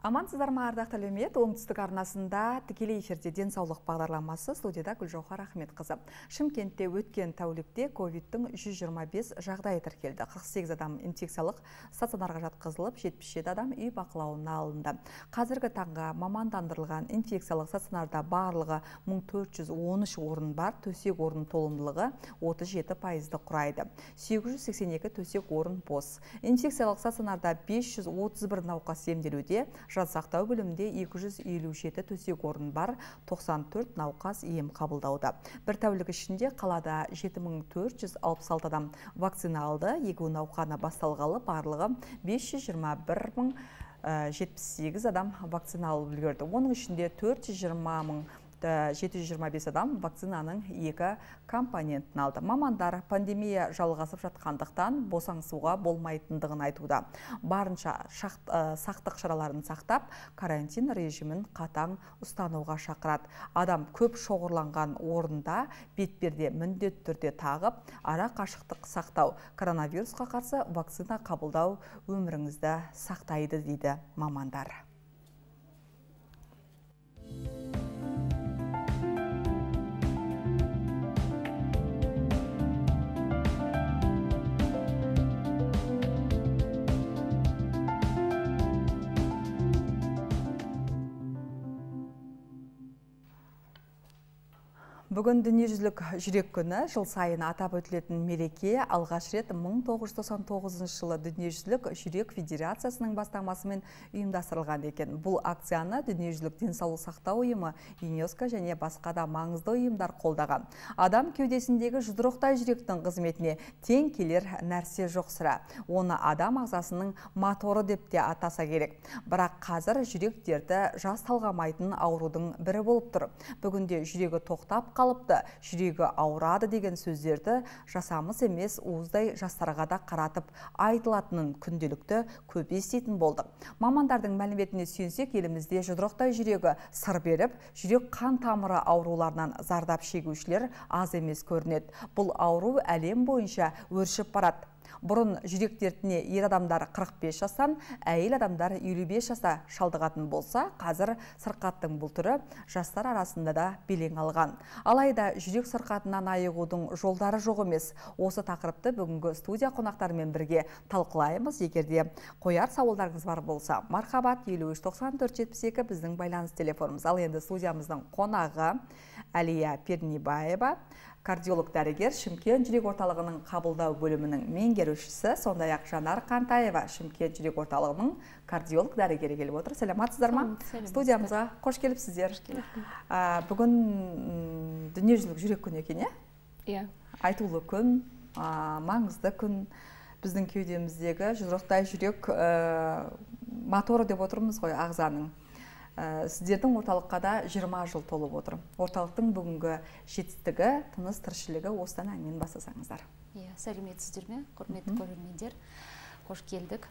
Амансыздар ма, ардақты әлеумет, оңтүстік арнасында тікелей эфирде денсаулық бағдарламасы, студияда Гүлжауһар Ахметқызы. Шымкентте өткен тәулікте ковидтің 125 жағдайы тіркелді. 48 адам инфекциялық стационарға жатқызылып, 77 адам үй бақылауына алынды. Қазіргі таңға мамандандырылған инфекциялық стационарда барлығы 1413 орын бар, төсек орын толымдылығы 37%-ді құрайды. 882 төсек орын бос. Инфекциялық стационарда 531 науқас емделуде, жансақтау бөлімінде 257 төсек орын бар, 94 науқас ем қабылдауда. Бір тәулік ішінде қалада 7466 адам вакцина алды, егу науқаны басталғалы барлығы 521.078 адам вакцина алып үлгерді. Оның ішінде 420.725 адам вакцинаның екі компонентін алды. Мамандар пандемия жалғасып жатқандықтан босаңсуға болмайтындығын айтуда. Барынша сақтық шараларын сақтап, карантин режимін қатаң ұстануға шақырады. Адам көп шоғырланған орында бетперде міндетті түрде тағып, ара қашықтық сақтау, коронавирусқа қарсы вакцина қабылдау өміріңізді сақтайды дейді мамандар. Бүгін дүниежүзілік жүрек күні, жыл сайын атап өтілетін мереке алғаш рет 1999 жылы Дүниежүзілік жүрек федерациясының бастамасымен ұйымдастырылған екен. Бұл акцияны дүниежүзілік денсаулық сақтау ұйымы, ЮНЕСКО және басқа да маңызды ұйымдар қолдаған. Адам кеудесіндегі жұдырықтай жүректің қызметіне тең келер нәрсе жоқ сірә. Оны адам ағзасының моторы деп те атаса керек. Бірақ қазір жүрек дерті жас талғамайтын аурудың бірі болып тұр. Бүгінде жүрегі тоқтап қалыпты, жүрегі ауырады деген сөздерді жасамыс емес уыздай жастарға да қаратып айтылатынын күнделікті көп еститін болдық. Мамандардың мәліметіне сүйенсек, елімізде жұдырықтай жүрегі сыр беріп, жүрек қан тамыры ауруларынан зардап шегушілер аз емес көрінеді. Бұл ауру әлем бойынша өршіп барады. Бұрын жүрек дертіне ер адамдар 45 жастан, әйел адамдар 55 жаста шалдығатын болса, қазір сырқаттың бұл түрі жастар арасында да белең алған. Алайда жүрек сырқатынан айығудың жолдары жоқ емес. Осы тақырыпты бүгінгі студия қонақтарымен бірге талқылаймыз. Егерде қояр сауалдарыңыз бар болса, мархабат 53-94-72 біздің байланыс телефонымыз. Ал енді студиямыздың қонағы Әлия Пернебаева, кардиолог дәрігер, Шымкент жүрек орталығының қабылдау бөлімінің меңгерушісі, сондай-ақ Жанар Қантаева, Шымкент жүрек орталығының кардиолог дәрігері келіп отыр. Сәлематсыздар ма? Студиямызға қош келіпсіздер. Бүгін дүниежүзілік жүрек күні екен, иә? Айтулы күн, маңызды күн. Біздің кеудеміздегі жұдырықтай жүрек моторы деп отырмыз ғой ағзаның. Сіздердің орталыққа да 20 жыл толып отыр. Орталықтың бүгінгі жетістігі, тыныс тіршілігі осыдан әңгімені бастасаңыздар. Сәлеметсіздер ме, құрметті көрермендер, қош келдік.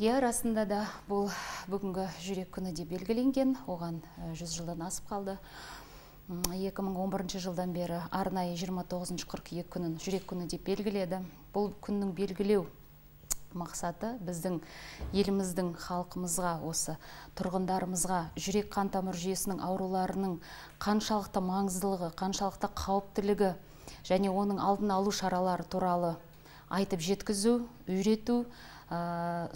Расында да бұл бүгінгі жүрек күні де белгіленген, оған 100 жылдан асып қалды. 2011 жылдан бері арнайы 29 қыркүйек күнін жүрек күні деп белгіледі. Бұл күннің белгілеу мақсаты біздің еліміздің халқымызға, осы тұрғындарымызға жүрек қан тамыр жүйесінің ауруларының қаншалықты маңыздылығы, қаншалықты қауіптілігі және оның алдын алу шаралары туралы айтып жеткізу, үйрету,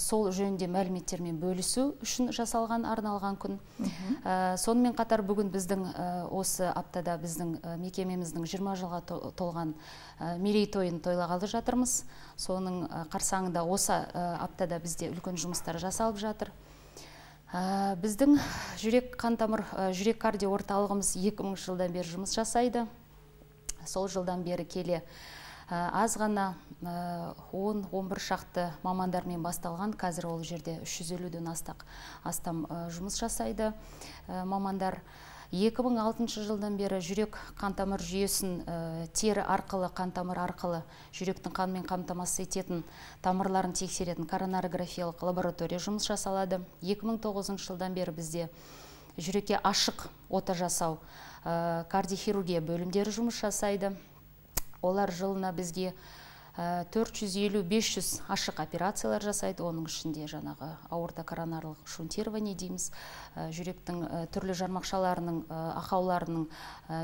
сол жөнінде мәліметтермен бөлісу үшін жасалған арналған күн. Сонымен қатар бүгін біздің осы аптада біздің мекемеміздің 20 жылға толған мерейтойын тойлағалы жатырмыз. Соның қарсаңында осы аптада бізде үлкен жұмыстар жасалып жатыр. Біздің жүрек қан тамыр жүрек кардио орталығымыз 2000 жылдан бері жұмыс жасайды. Сол жылдан бері келе аз ғана 10-11 шақты мамандармен басталған, қазір ол жерде 350-ден астам жұмыс жасайды мамандар. 2006 жылдан бері жүрек қан тамыр жүйесін тері арқылы, қан тамыр арқылы жүректің қанмен қамтамасыз ететін тамырларын тексеретін коронарографиялық лаборатория жұмыс жасалады. 2009 жылдан бері бізде жүрекке ашық ота жасау, кардиохирургия бөлімдері жұмыс жасайды. Олар жылына бізге 450-500 ашық операциялар жасайды, оның ішінде жаңағы аорта коронарлық шунтирование дейміз, жүректің түрлі жармақшаларының ақауларының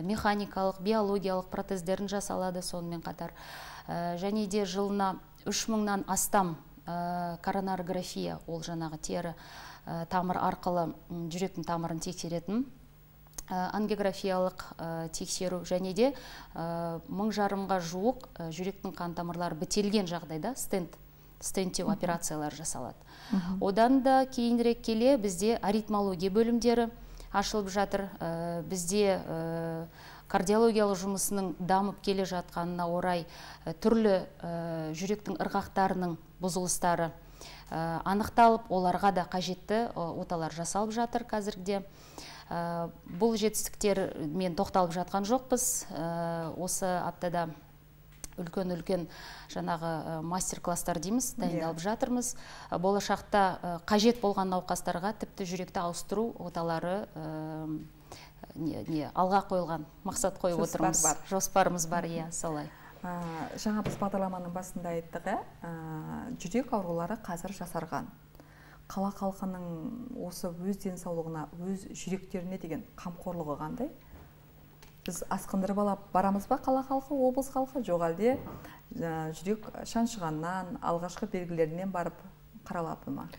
механикалық, биологиялық протездерін жасалады сонымен қатар. Және де жылына 3000-нан астам коронарография, ол жаңағы тері тамыр арқылы жүректің тамырын тексеретін ангиографиялық тексеру, және де 1000-ға жуық жүректің қан тамырлары бітелген жағдайда стенттеу операциялар жасалады. Одан да кейінірек келе бізде аритмология бөлімдері ашылып жатыр. Бізде кардиологиялық жұмысының дамып келе жатқанына орай түрлі жүректің ырғақтарының бұзылыстары анықталып, оларға да қажетті оталар жасалып жатыр қазіргіде. Бұл жетістіктер мен тоқталып жатқан жоқпыз. Осы аптада үлкен жаңағы мастер-класстар дейміз, дайындалып жатырмыз. Болашақта қажет болған науқастарға тіпті жүректі ауыстыру оталары алға қойылған, мақсат қойып отырмыз. Жоспарымыз бар, солай. Жаңа біз бағдарламаның басында айттық, жүрек аурулары қазір жасарған. Қала халқының осы өз денсаулығына, өз жүректеріне деген қамқорлығы қандай? Біз асқындырып алып барамыз ба қала халқы, облыс халқы? Жоқ әлде жүрек шаншығаннан, алғашқы белгілерінен барып қаралапы ма?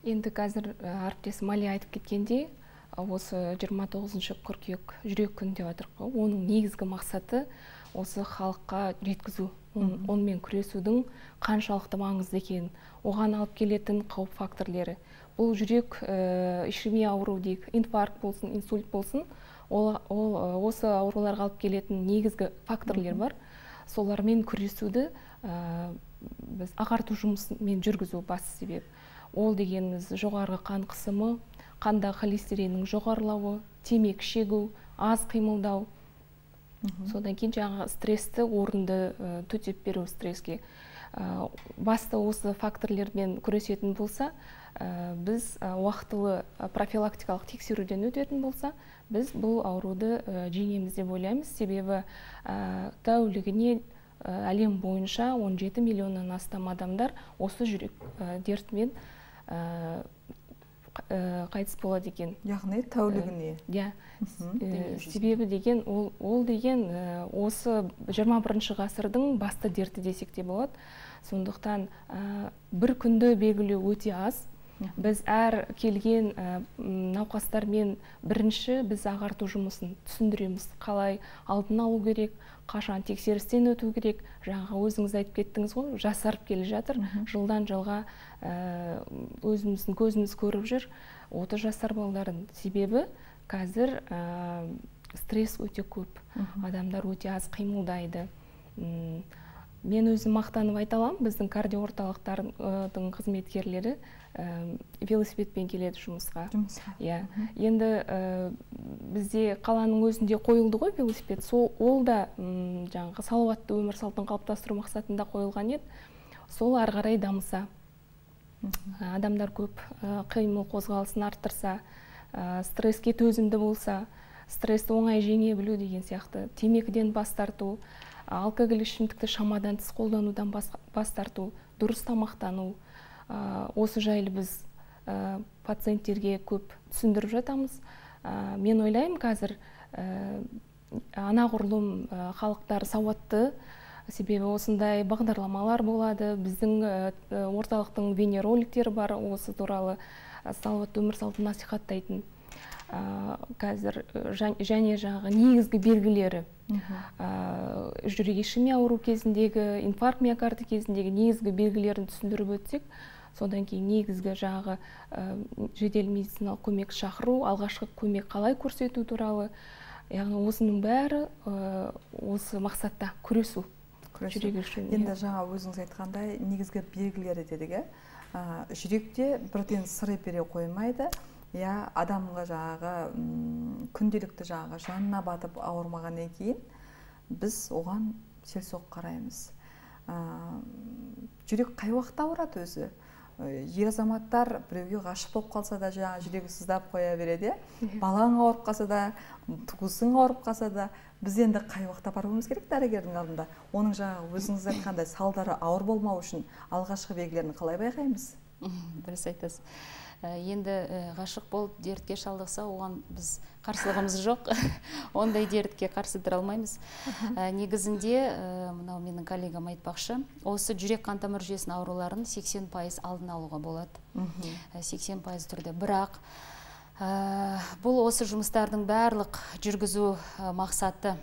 Енді қазір әріптесім Мали айтып кеткенде, осы 29 қыркүйек жүрек күні деп отырық. Оның негізгі мақсаты осы халыққа жеткізу, онымен күресудің қаншалықты маңызды екенін, оған алып келетін қауіп факторлары. Бұл жүрек ишемия ауру дейік, инфаркт болсын, инсульт болсын, осы ауруларға алып келетін негізгі факторлар бар. Солармен күресуді біз ағарту жұмысымен жүргізу басты себеп. Ол дегеніміз жоғарғы қан қысымы, қанда холестериннің жоғарылауы, темекі шегу, аз қимылдау. Содан кейін жаңағы стрессті орынды төтеп беру стресске. Басты осы факторлермен күресетін болса, біз уақытылы профилактикалық тексеруден өтетін болса, біз бұл ауруды жеңеміз деп ойлаймыз. Себебі тәулігіне әлем бойынша 17 миллионнан астам адамдар осы жүрек дертімен қайтыс болады екен. Яғни тәулігіне? Себебі деген, ол деген осы 21 ғасырдың басты дерті десек те болады. Сондықтан бір күнді белгілеу өте аз. Біз әр келген науқастармен бірінші біз ағарту жұмысын түсіндіреміз. Қалай алдын алу керек, қашан тексерістен өту керек. Жаңағы өзіңіз айтып кеттіңіз ғой, жасарып келе жатыр. Жылдан жылға өзіміздің көзіміз көріп жүр 30 жасар балалардың. Себебі қазір стресс өте көп. Адамдар өте аз қимылдайды. Мен өзім мақтанып айта аламын, біздің кардиоорталықтардың қызметкерлері велосипедпен келеді жұмысқа. Енді бізде қаланың өзінде қойылды ғой велосипед. Ол да жаңағы салауатты өмір салтын қалыптастыру мақсатында қойылған еді. Сол ары қарай дамыса, адамдар көп қимыл қозғалысын арттырса, стресске төзімді болса, стрессті оңай жеңе білу деген сияқты, темекіден бас тарту, алкоголь ішімдікті шамадан тыс қолданудан бас тарту, дұрыс тамақтану. Осы жайлы біз пациенттерге көп түсіндіріп жатамыз. Мен ойлаймын, қазір анағұрлым халықтар сауатты, себебі осындай бағдарламалар болады. Біздің орталықтың бейнероликтері бар, осы туралы салауатты өмір салтын насихаттайтын. Қазір және жаңағы негізгі белгілері, жүрек ишемия ауру кезіндегі, инфаркт миокард кезіндегі негізгі белгілерін түсіндіріп өтсек, содан кейін негізгі жаңағы жедел медициналық көмек шақыру, алғашқы көмек қалай көрсету туралы, яғни осының бәрі осы мақсатта күресу. Енді жаңа өзіңіз айтқандай негізгі белгілері дедік, жүректе бірден сыры бере қоймайды. Адамға жаңағы күнделікті жаңағы жанына батып ауырмағаннан кейін біз оған селсоқ қараймыз. Жүрек қай уақытта ауырады өзі? ер азаматтар біреуге ғашық болып қалса да жаңа жүрегі сыздап қоя береді, балаң ауырып қалса да, туысың ауырып қалса да, біз енді қай уақытта баруымыз керек дәрігердің алдында? Оның жаңағы өзіңіз айтқандай салдары ауыр болмау үшін алғашқы белгілерін қалай байқаймыз? Дұрыс айтасыз. Енді ғашық болып дертке шалдықса, оған біз қарсылығымыз жоқ. Ондай дертке қарсы тұра алмаймыз. Негізінде, мынау менің коллегам айтпақшы, осы жүрек қан тамыр жүйесінің ауруларын 80% алдын алуға болады. 80% түрде. Бірақ бұл осы жұмыстардың барлық жүргізу мақсаты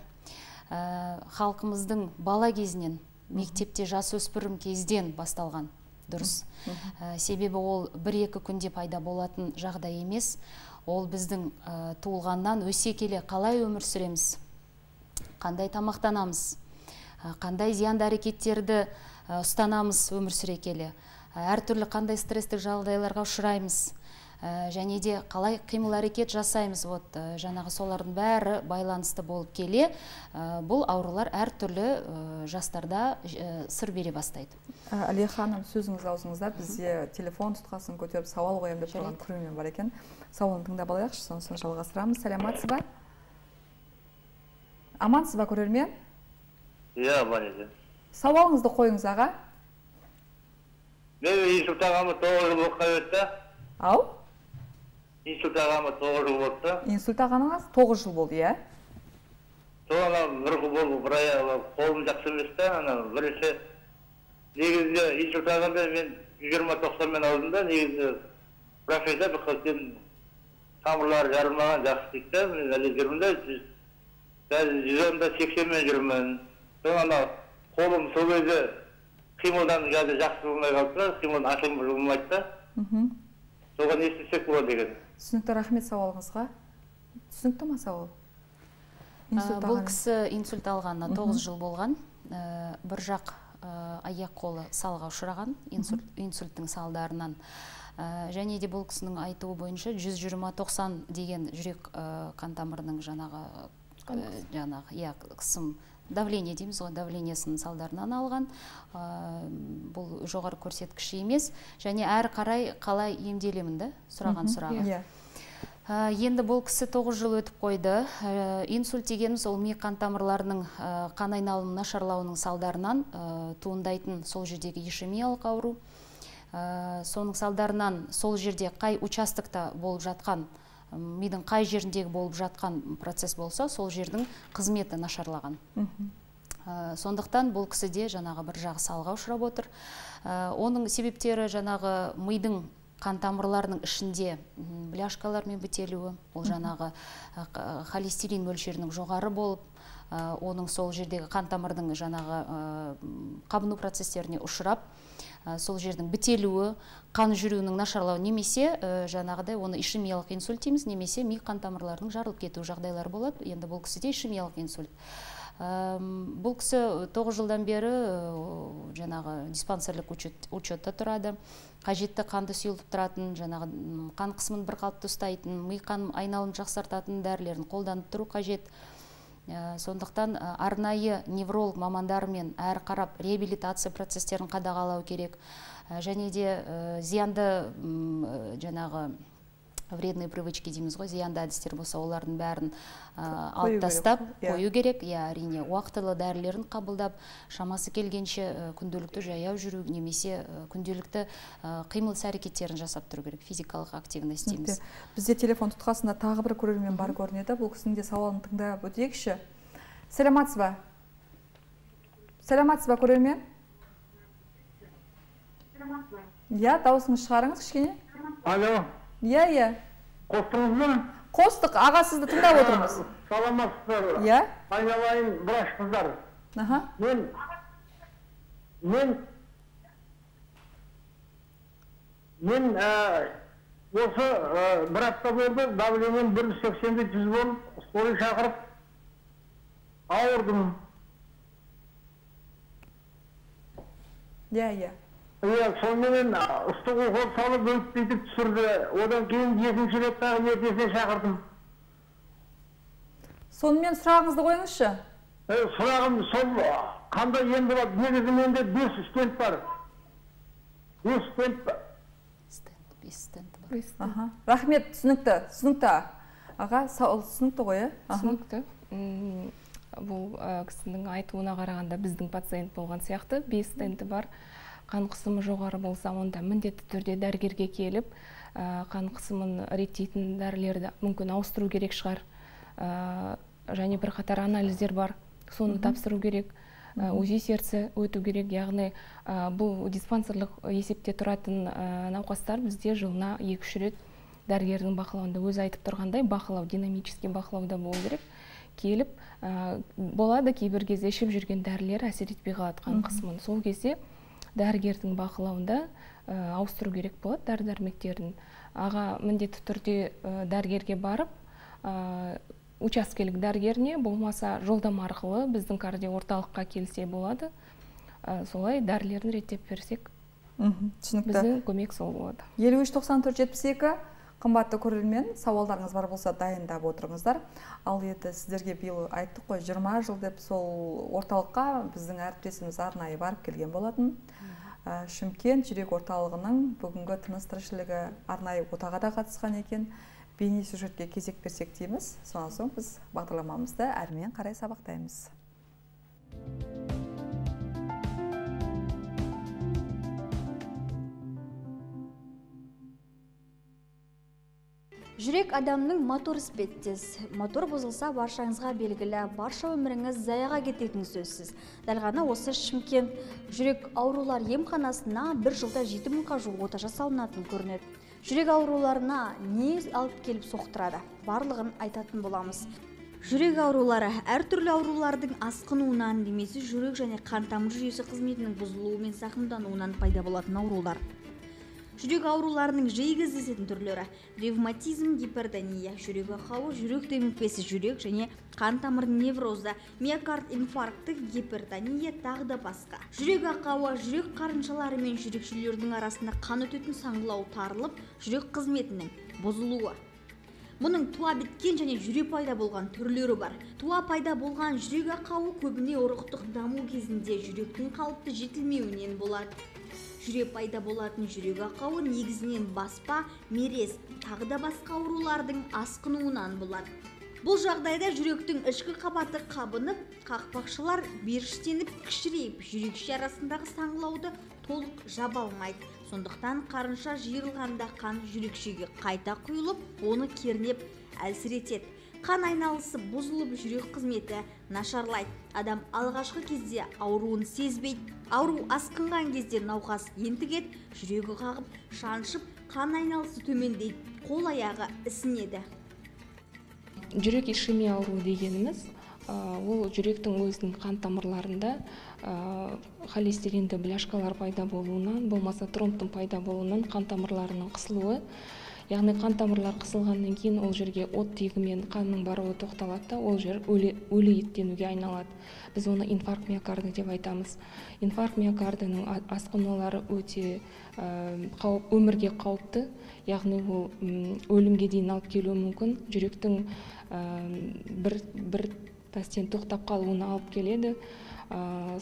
халқымыздың бала кезінен, мектепте жасөспірім кезден басталған. Дұрыс. Себебі ол 1-2 күнде пайда болатын жағдай емес. Ол біздің туылғаннан өсе келе қалай өмір сүреміз, қандай тамақтанамыз, қандай зиянды әрекеттерді ұстанамыз өмір сүре келе, әртүрлі қандай стресстік жағдайларға ұшыраймыз, және де қалай қимыл әрекет жасаймыз. Жаңағы солардың бәрі байланысты болып келе, бұл аурулар әртүрлі жастарда сыр бере бастайды. Әлия ханым, сөзіңіз аузыңызда, бізде телефон тұтқасын көтеріп сауал қоямын деп тұрған көрермен бар екен. Сауалын тыңдап алайықшы, сонысын жалғастырамыз. Сәлематсыз ба? Амансыз ба, көрермен? Иә, бар еді. Сауалыңызды қойыңыз, аға. Мен инсульт ағамы 9 жыл болып қайтты. Ау? Инсульт ағамы 9 жыл болыпты. Инсульт ағаныңыз 9 жыл болды, иә? Соған бір жыл болды, бір ай қолым жақсы еместі. Бірінші негізінде инсульт ағамды мен 120-90-мен алдым да, негізінде бірақ айда бір қылтен тамырлары жарылмаған жақсы дейікті. Мен әлі жүрмін да, 110-80-мен жүрмін. Соған қолым сол кезде қимылдан жақсы болмай қалды, қимылдан ашылым болмайды да. Соған не істесек болады деген. Түсінікті, рахмет сауалыңызға. Түсінікті ма сауал? Бұл кісі инсульт алғанына 9 жыл болған. Бір жақ аяқ қолы салға ұшыраған инсульттің салдарынан. Және де бұл кісінің айтуы бойынша 120-90 деген жүрек қан тамырының жаңағы қысым давление дейміз ғой, давлениесінің салдарынан алған. Бұл жоғары көрсеткіш емес. Және әрі қарай қалай емделемін да, сұраған сұрағы. Енді бұл кісі 9 жыл өтіп қойды. Инсульт дегеніміз ол ми қан тамырларының қан айналымының нашарлауының салдарынан туындайтын сол жердегі ишемиялық ауру. Соның салдарынан сол жерде қай участокта болып жатқан, мидың қай жеріндегі болып жатқан процесс болса, сол жердің қызметі нашарлаған. Сондықтан бұл кісіде жаңағы бір жағы салға ұшырап отыр. Оның себептері жаңағы мидың қан тамырларының ішінде бляшкалармен бітелуі, ол жаңағы холестерин мөлшерінің жоғары болып, оның сол жердегі қан тамырдың жаңағы қабыну процестеріне ұшырап, сол жердің бітелуі, қан жүруінің нашарлауы, немесе жаңағыдай оны ишемиялық инсульт дейміз, немесе ми қан тамырларының жарылып кету жағдайлары болады. Енді бұл кісіде ишемиялық инсульт. Бұл кісі 9 жылдан бері жаңағы диспансерлік учетта тұрады. Қажетті қанды сұйылтып тұратын, жаңағы қан қысымын бір қалыпты ұстайтын, ми қан айналым жақсартатын дәрілерін қолданып тұру қажет. Сондықтан арнайы невролог мамандарымен әрі қарап реабилитация процестерін қадағалау керек. Және де зиянды жаңағы вредные привычки дейміз ғой, зиянды әдістер болса, олардың бәрін алып тастап қою керек. Әрине, уақытылы дәрілерін қабылдап, шамасы келгенше күнделікті жаяу жүру, немесе күнделікті қимыл әрекеттерін жасап тұру керек, физикалық активность дейміз. Бізде телефон тұтқасында тағы бір көрермен бар көрінеді. Бұл кісінің де сауалын тыңдап өтейікші. Сәлематсыз ба? Сәлематсыз ба, көрермен? Иә, дауысыңыз шығарыңыз кішкене. Алло. Иә. Қостыңыз ба? Қостық, аға, сізді тыңдап отырмыз. Саламатсыздар. Иә? Айналайын врач қыздар. Мен осы бір апта болды, давлением 180-100 болып, скорый шақырып ауырдым. Иә. Сонымен ыстық укол салып өтпейтіп түсірді. Одан кейін екінші рет тағы ертесіне шақырдым. Сонымен сұрағыңызды қойыңызшы. Сұрағым сол қандай ем болады? Негізі менде 5 стент бар. 5 стент 5 стенді бар. Рахмет, түсінікті. Аға, түсінікті ғой, түсінікті. Бұл кісінің айтуына қарағанда біздің пациент болған сияқты 5 стенді бар. Қан қысымы жоғары болса, онда міндетті түрде дәрігерге келіп, қан қысымын реттейтін дәрілерді мүмкін ауыстыру керек шығар. Және бір қатар анализдер бар, соны тапсыру керек. УЗИ сердце өту керек, яғни бұл диспансерлік есепте тұратын науқастар бізде жылына 2-3 рет дәрігердің бақылауында, өзі айтып тұрғандай бақылау, динамический бақылауда болу керек. Келіп, болады кейбір кезде ішіп жүрген дәрілер әсер етпей қалады қан қысымын. Сол кезде дәрігердің бақылауында ауыстыру керек болады дәрі-дәрмектерін. Аға міндетті түрде дәрігерге барып, учаскелік дәрігеріне, болмаса жолдама арқылы біздің кардиорталыққа келсе болады. Солай дәрілерін реттеп берсек, біздің көмек сол болады. 53-94-72 қымбатты көрермен, сауалдарыңыз бар болса дайындап отырыңыздар. Ал еді сіздерге биыл айттық қой, 20 жыл деп сол орталыққа біздің әріптесіміз арнайы барып келген болатын. Шымкент жүрек орталығының бүгінгі тыныс тіршілігі арнайы отаға да қатысқан екен. Бейне сюжетке кезек берсек дейміз. Сонан соң біз бағдарламамызды әрмен қарай сабақтаймыз. Жүрек адамның мотор іспеттес. Мотор бұзылса баршаңызға белгілі, барша өміріңіз заяға кететін сөзсіз. Дәл ғана осы Шымкент жүрек аурулар емханасына бір жылда 7000-ға жуық ота жасалынатын көрінеді. Жүрек ауруларына не алып келіп соқтырады? Барлығын айтатын боламыз. Жүрек аурулары әртүрлі аурулардың асқынуынан немесе жүрек және қан тамыр жүйесі қызметінің бұзылуымен зақымдануынан пайда болатын аурулар. Жүрек ауруларының жиі кездесетін түрлері: ревматизм, гипертония, жүрек ақауы, жүрек демікпесі, жүрек және қан тамыр неврозы, миокард инфаркты, гипертония, тағы да басқа. Жүрек ақауы жүрек қарыншалары мен жүрекшелердің арасында қан өтетін саңылау тарылып, жүрек қызметінің бұзылуы. Мұның туа біткен және жүре пайда болған түрлері бар. Туа пайда болған жүрек ақауы көбіне ұрықтық даму кезінде жүректің қалыпты жетілмеуінен болады. Жүре пайда болатын жүрек ақауы негізінен баспа, мерез, тағы да басқа аурулардың асқынуынан болады. Бұл жағдайда жүректің ішкі қабаты қабынып, қақпақшалар беріштеніп, кішірейіп, жүрекше арасындағы саңылауды толық жаба алмайды. Сондықтан қарынша жиырылғанда қан жүрекшеге қайта құйылып, оны кернеп әлсіретеді. Қан айналысы бұзылып, жүрек қызметі нашарлайды. Адам алғашқы кезде ауруын сезбейді. Ауру асқынған кезде науқас ентігеді, жүрегі қағып, шаншып, қан айналысы төмендейді, қол аяғы ісінеді. Жүрек ишемия ауруы дегеніміз, ол жүректің өзінің қан тамырларында холестеринді бляшкалар пайда болуынан, болмаса тромбтың пайда болуынан қан тамырларының қысылуы. Яғни қан тамырлар қысылғаннан кейін ол жерге оттегімен қанның баруы тоқталады, ол жер өлі еттенуге айналады. Біз оны инфаркт миокарды деп айтамыз. Инфаркт миокардының асқынулары өте өмірге қауіпті, яғни ол өлімге дейін алып келуі мүмкін. Жүректің бір пәстен тоқтап қалуына алып келеді.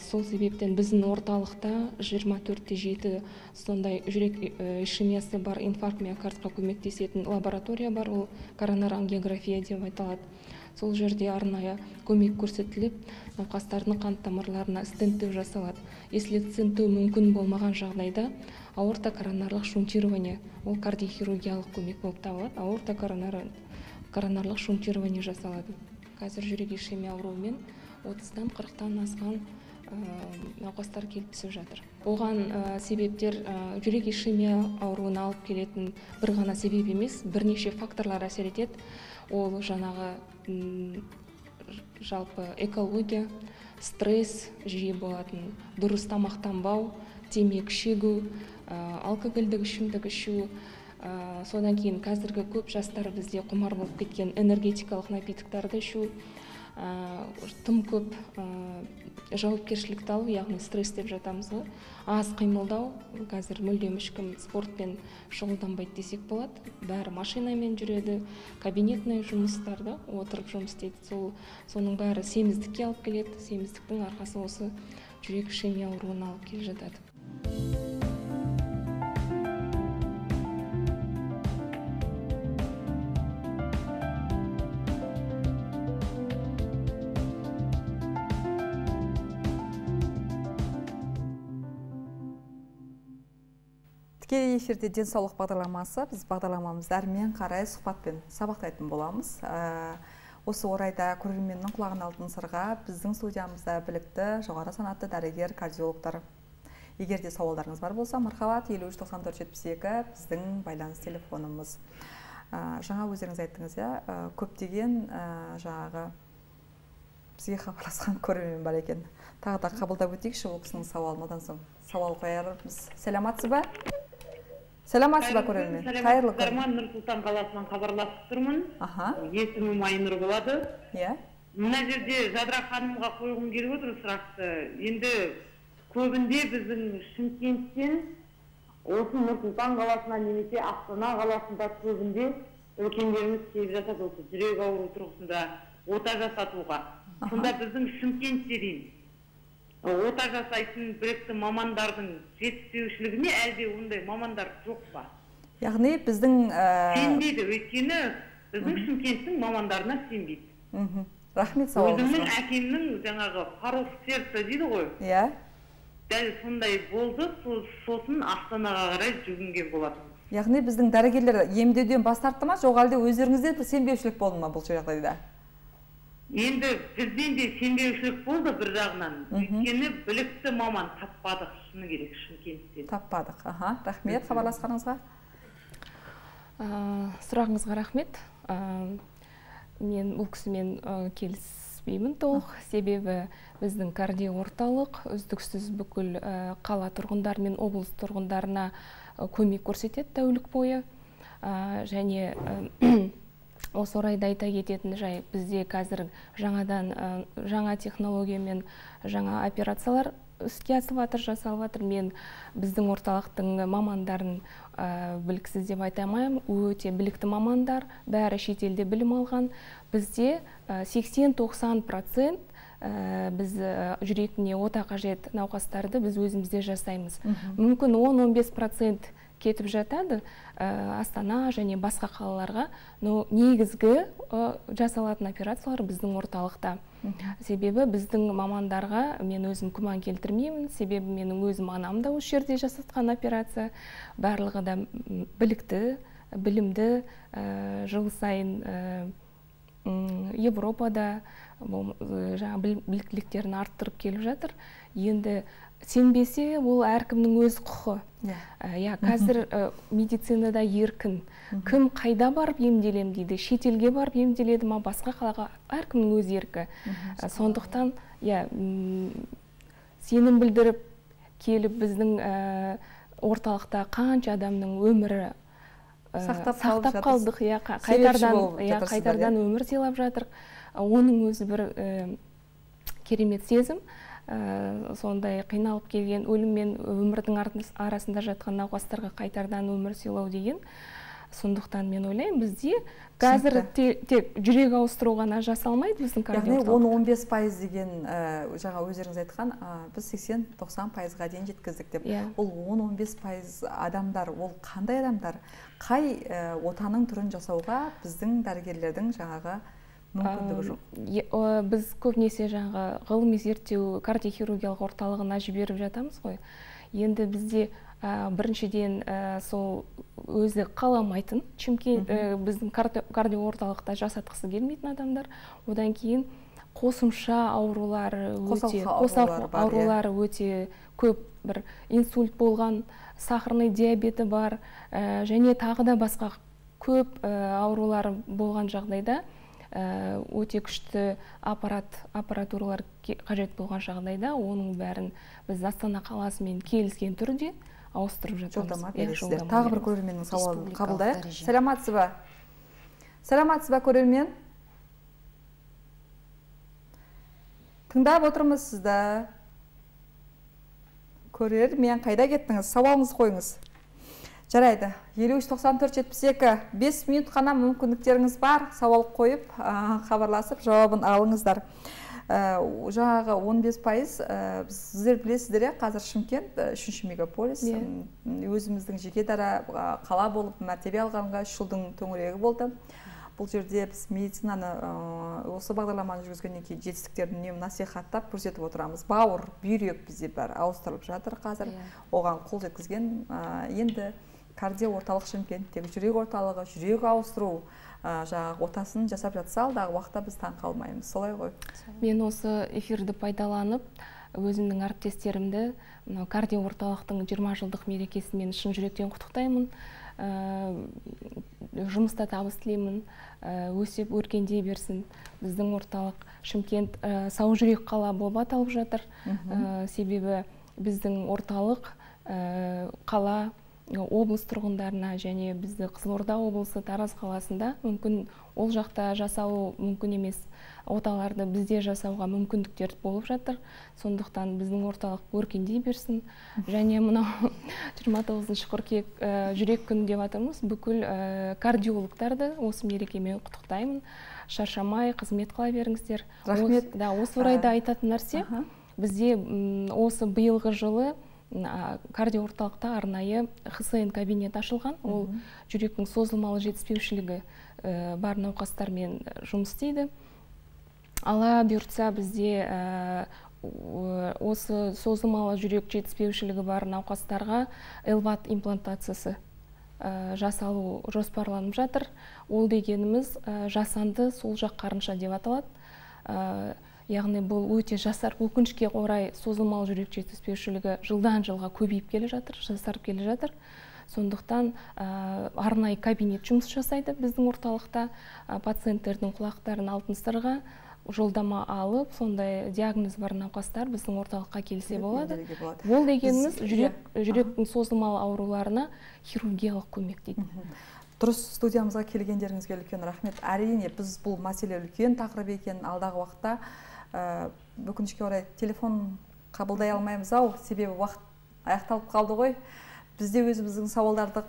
Сол себептен біздің орталықта 24/7 сондай жүрек ишемиясы бар инфаркт миокардқа көмектесетін лаборатория бар, ол коронарангиография деп айтылады. Сол жерде арнайы көмек көрсетіліп, науқастардың қан тамырларына стенттеу жасалады. Если стенттеу мүмкін болмаған жағдайда, аорта коронарлық шунтирование, ол кардиохирургиялық көмек болып табылады. Аорта коронарлық шунтирование жасалады. Қазір жүрек ишемия ауруымен 30-тан 40-тан асқан науқастар келіп түсіп жатыр. Оған себептер жүрек ишемия ауруына алып келетін бір ғана себеп емес, бірнеше факторлар әсер етеді. Ол жаңағы жалпы экология, стресс жиі болатын, дұрыс тамақтанбау, темекі шегу, алкогольдік ішімдік ішу, содан кейін қазіргі көп жастар бізде құмар болып кеткен энергетикалық напитоктарды ішу, тым көп жауапкершілікті алу, яғни стресс деп жатамыз ғой. Аз қимылдау, қазір мүлдем ешкім спортпен шұғылданбайды десек болады. Бәрі машинамен жүреді, кабинетный жұмыстарда отырып жұмыс істейді. Соның бәрі семіздікке алып келеді. Семіздіктің арқасы осы жүрек ишемия ауруына алып келе жатады. Тікелей эфирде денсаулық бағдарламасы. Біз бағдарламамызды әрмен қарай сұхбатпен сабақтайтын боламыз. Осы орайда көрерменнің құлағына алтын сырға біздің студиямызда білікті, жоғары санатты дәрігер, кардиологтар. Егер де сауалдарыңыз бар болса, мархабат 53-94-72 біздің байланыс телефонымыз. Жаңа өздеріңіз айттыңыз, көптеген жаңағы бізге хабарласқан көрермен бар екен. Тағы да қабылдап өтейікші ол кісінің сауалын, одан соң сауал қоярмыз. Сәлематсыз ба? Сәлематсыз ба көрермен? Қайырлы күн. Нұр Сұлтан қаласынан хабарласып тұрмын. Есімім Айнұр болады. Мына жерде Жадыра ханымға қойғым келіп отыр сұрақты. Енді көбінде біздің Шымкенттен осы Нұр Сұлтан қаласына немесе Астана қаласында көбінде үлкендеріміз келіп жатады осы жүрек ауруы тұрғысында ота жасатуға. Сонда біздің Шымкентте дейін ота жасайтын білікті мамандардың жетіспеушілігі ме, әлде ондай мамандар жоқ па? Яғни біздің сенбейді, өйткені біздің Шымкенттің мамандарына сенбейді. Рахмет сауалыңызға. Өзімнің әкемнің жаңағы порог сердца дейді ғой. Иә. Дәл сондай болды, сосын Астанаға қарай жүгінген болатын. Яғни біздің дәрігерлер емдеуден бас тартты ма, жоқ әлде өздеріңізде сенбеушілік болды ма бұл жағдайда? Енді бізден де сенбеушілік болды бір жағынан. Өйткені білікті маман таппадық, шыны керек, Шымкенттен. Таппадық. Рахмет хабарласқаныңызға. Сұрағыңызға рахмет. Мен бұл кісімен келіспеймін толық. Себебі біздің кардиоорталық үздіксіз бүкіл қала тұрғындары мен облыс тұрғындарына көмек көрсетеді тәулік бойы. Және осы орайда айта кететін жай, бізде қазір жаңа технологиямен жаңа операциялар іске асып жатыр, жасалып жатыр. Мен біздің орталықтың мамандарын біліксіз деп айта алмаймын, өте білікті мамандар, бәрі шетелде білім алған. Бізде 80-90% біз жүрегіне ота қажет науқастарды біз өзімізде жасаймыз. Мүмкін 10-15% кетіп жатады Астана және басқа қалаларға, но негізгі жасалатын операциялар біздің орталықта. Себебі біздің мамандарға мен өзім күмән келтірмеймін, себебі менің өзім анам да осы жерде жасатқан операция. Барлығы да білікті, білімді, жыл сайын Европада жаңа біліктіліктерін арттырып келіп жатыр. Енді сенбесе, ол әркімнің өз құқы. Қазір медицинада еркін. Кім қайда барып емделем дейді, шетелге барып емделеді ма, басқа қалаға, әркімнің өз еркі. Сондықтан, сенім білдіріп келіп біздің орталықта қанша адамның өмірі сақтап қалдық, қайтардан өмір сыйлап жатыр. Оның өзі бір керемет сезім. Сондай қиналып келген өлім мен өмірдің арасында жатқан науқастарға қайтардан өмір сыйлау деген. Сондықтан мен ойлаймын, бізде қазір тек жүрек ауыстыру ғана жасалмайды біздің кардиологтар. Яғни 10-15% деген жаңа өздеріңіз айтқан, біз 80-90%-ға дейін жеткіздік деп. Ол 10-15% адамдар, ол қандай адамдар? Қай отаның түрін жасауға біздің дәрігерлердің жаңағы мүмкіндігі жоқ? Біз көбінесе жаңағы ғылыми зерттеу кардиохирургиялық орталығына жіберіп жатамыз ғой. Енді бізде біріншіден сол өзі қаламайтын, біздің кардиоорталықта жасатқысы келмейтін адамдар. Одан кейін қосымша аурулары өте көп, бір инсульт болған, сахарный диабеті бар, және тағы да басқа көп аурулары болған жағдайда өте күшті аппаратуралар қажет болған жағдайда оның бәрін біз Астана қаласымен келіскен түрде ауыстырып жатырмыз. Жолдама бересіздер. Тағы бір көрерменнің сауалын қабылдайық. Сәлематсыз ба? Сәлематсыз ба көрермен? Тыңдап отырмыз сізді. Көрермен, қайда кеттіңіз? Сауалыңызды қойыңыз. Жарайды. 53-94-72 5 минут қана мүмкіндіктеріңіз бар. Сауал қойып, хабарласып, жауабын алыңыздар. Жаңағы 15%, сіздер білесіздер, қазір Шымкент 3-ші мегаполис, өзіміздің жеке дара қала болып мәртебе алғанға 3 жылдың төңірегі болды. бұл жерде біз медицинаны осы бағдарламаны жүргізгеннен кейін жетістіктерін үнемі насихаттап көрсетіп отырамыз. Бауыр, бүйрек бізде бәрі ауыстырылып жатыр қазір. Оған қол жеткізген енді кардио орталық Шымкенттегі жүрек орталығы, жүрек ауыстыру жаңағы отасын жасап жатса, алдағы уақытта біз таң қалмаймыз. Солай ғой. Мен осы эфирді пайдаланып, өзімнің әріптестерімді кардио орталықтың 20 жылдық мерекесімен шын жүректен құттықтаймын. Жұмыста табыс тілеймін, өсіп өркендей берсін. Біздің орталық Шымкент сау жүрек қала болып аталып жатыр. Себебі біздің орталық қала облыс тұрғындарына және бізді Қызылорда облысы Тараз қаласында мүмкін ол жақта жасалу мүмкін емес оталарды бізде жасауға мүмкіндіктер болып жатыр. Сондықтан біздің орталық өркендей берсін. Және мынау 29 қыркүйек жүрек күні деп атырмыз. Бүкіл кардиологтарды осы мерекемен құттықтаймын. Шаршамай, қызмет қыла беріңіздер. Рахмет. Осы орайда айтатын нәрсе, бізде осы биылғы жылы кардио орталықта арнайы ХСН кабинет ашылған. Ол жүректің созылмалы жетіспеушілігі бар науқастармен жұмыс істейді. Ала бұйыртса бізде осы созылмалы жүрек жетіспеушілігі бар науқастарға элват имплантациясы жасалу жоспарланып жатыр. Ол дегеніміз жасанды сол жақ қарынша деп аталады. Яғни бұл өте жасар, өкінішке орай созылмалы жүрек жетіспеушілігі жылдан жылға көбейіп келе жатыр, жасарып келе жатыр. Сондықтан арнайы кабинет жұмыс жасайды біздің орталықта. Пациенттердің құлақтарын алтын сырға жолдама алып, сондай диагноз бар науқастар біздің орталыққа келсе болады. Ол дегеніміз жүректің созылмалы ауруларына хирургиялық көмек дейді. Дұрыс, студиямызға келгендеріңізге үлкен рахмет. Әрине біз бұл мәселе үлкен тақырып екенін алдағы уақытта өкінішке орай телефон қабылдай алмаймыз себебі уақыт аяқталып қалды ғой. Бізде өзіміздің сауалдарды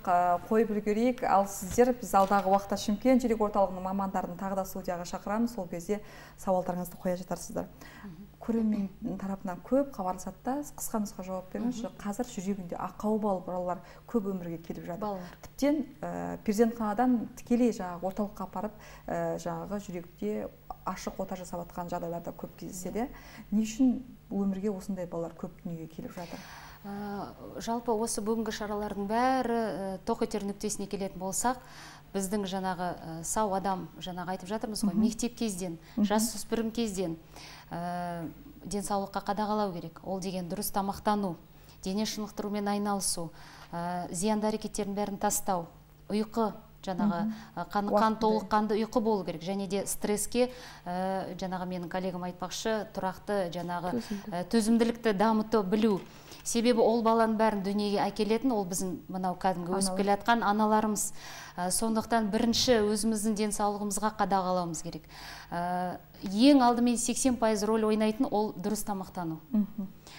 қойып үлгерейік. Ал сіздер біз алдағы уақытта Шымкент жүрек орталығының мамандарын тағы да студияға шақырамыз. Сол кезде сауалдарыңызды қоя жатарсыздар. Көрермен тарапынан көп хабарласады да, қысқа нұсқа жауап беріңізші. Қазір жүрегінде ақауы бар балалар көп өмірге келіп жатыр. Тіптен перзентханадан тікелей жаңағы орталыққа апарып, жаңағы жүректе ашық ота жасап жатқан жағдайларда көп кездеседі. Не үшін өмірге осындай балалар көп дүниеге келіп жатыр? Жалпы осы бүгінгі шаралардың бәрі тоқ етер нүктесіне келетін болсақ, біздің жаңағы сау адам, жаңағы айтып жатырмыз ғой, мектеп кезден, жасөспірім кезден денсаулыққа қадағалау керек. Ол деген дұрыс тамақтану, дене шынықтырумен айналысу, зиянды әрекеттердің бәрін тастау, ұйқы, жаңағы қан толыққанды ұйқы болу керек. Және де стресске, жаңағы менің коллегам айтпақшы, тұрақты жаңағы төзімділікті дамыту білу. Себебі ол баланың бәрін дүниеге әкелетін, ол біздің мынау кәдімгі өсіп келе жатқан аналарымыз. Сондықтан бірінші өзіміздің денсаулығымызға қадағалауымыз керек. Ең алдымен 80% рөл ойнайтын ол дұрыс тамақтану.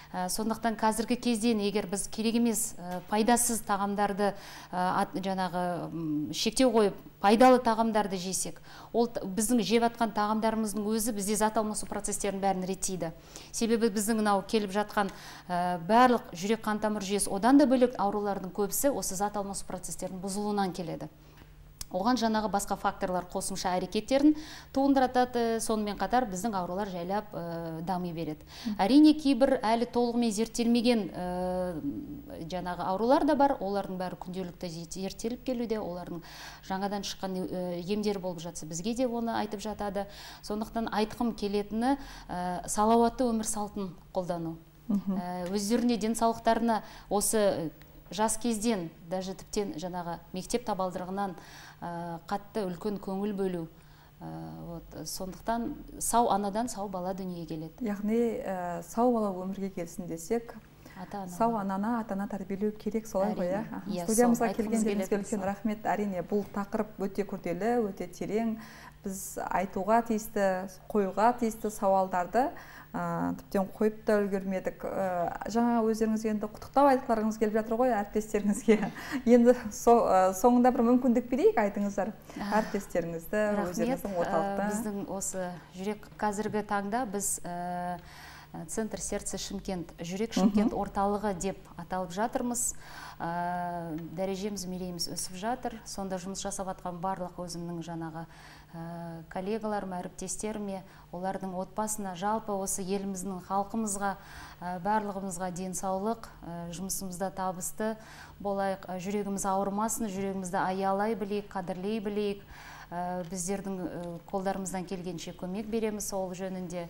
Сондықтан қазіргі кезден егер біз керек емес пайдасыз тағамдарды жаңағы шектеу қойып, пайдалы тағамдарды жесек, ол біздің жеп жатқан тағамдарымыздың өзі бізде зат алмасу процестерін бәрін реттейді. Себебі біздің мынау келіп жатқан барлық жүрек қан тамыр жүйесі, одан да бөлек аурулардың көбісі осы зат алмасу процестерінің бұзылуынан келеді. Оған жаңағы басқа факторлар қосымша әрекеттерін туындыратады, сонымен қатар біздің аурулар жайлап дами береді. Әрине кейбір әлі толығымен зерттелмеген жаңағы аурулар да бар, олардың бәрі күнделікті зерттеліп келуде, олардың жаңадан шыққан емдері болып жатса, бізге де оны айтып жатады. Сондықтан айтқым келетіні салауатты өмір салтын қолдану. Өздеріне денсаулықтарына осы жас кезден, даже тіптен жаңағы мектеп табалдырығынан қатты үлкен көңіл бөлу. Сондықтан сау анадан сау бала дүниеге келеді. Яғни сау бала өмірге келсін десек, сау ананы ата-ана тәрбиелеу керек, солай ғой. Студиямызға келгендеріңізге үлкен рахмет. Әрине бұл тақырып өте күрделі, өте терең. Біз айтуға тиісті, қоюға тиісті сауалдарды тіптен қойып та үлгермедік. Жаңа өздеріңізге енді құттықтау айтқыларыңыз келіп жатыр ғой әріптестеріңізге. Енді соңында бір мүмкіндік берейік, айтыңыздар әріптестеріңізді, өздеріңіздің орталықта. Біздің осы жүрек қазіргі таңда біз Центр сердца Шымкент, жүрек Шымкент орталығы деп аталып жатырмыз. Дәрежеміз, мерейіміз өсіп жатыр. Сонда жұмыс жасап атқан барлық өзімнің жаңағы коллегаларым, әріптестеріме, олардың отбасына, жалпы осы еліміздің халқымызға, барлығымызға денсаулық, жұмысымызда табысты болайық, жүрегіміз ауырмасын, жүрегімізді аялай білейік, қадірлей білейік. Біздердің қолдарымыздан келгенше көмек береміз ол жөнінде.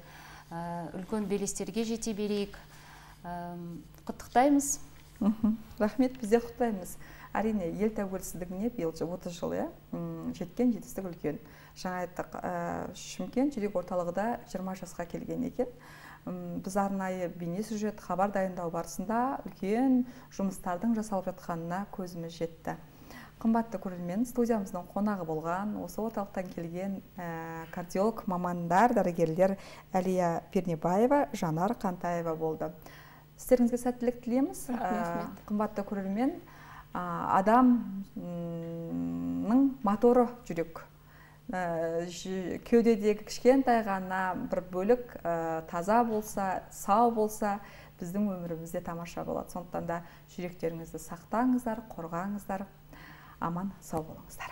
Үлкен белестерге жете берейік. Құттықтаймыз. Рахмет, бізде құттықтаймыз. Әрине, ел тәуелсіздігіне биыл 30 жыл, жеткен жетістік үлкен. Жаңа айттық, Шымкент жүрек орталығында 20 жасқа келген екен. Біз арнайы бейнесюжет хабар дайындау барысында үлкен жұмыстардың жасалып жатқанына көзіміз жетті. Қымбатты көрермен, студиямыздың қонағы болған, осы орталықтан келген кардиолог мамандар, дәрігерлер Әлия Пернебаева, Жанар Қантаева болды. Сіздеріңізге сәттілік тілейміз. Қымбатты көрермен, адамның моторы жүрек. Кеудедегі кішкентай ғана бір бөлік таза болса, сау болса, біздің өмірімізде тамаша болады. Сондықтан да жүректеріңізді сақтаңыздар, қорғаңыздар, аман сау болыңыздар.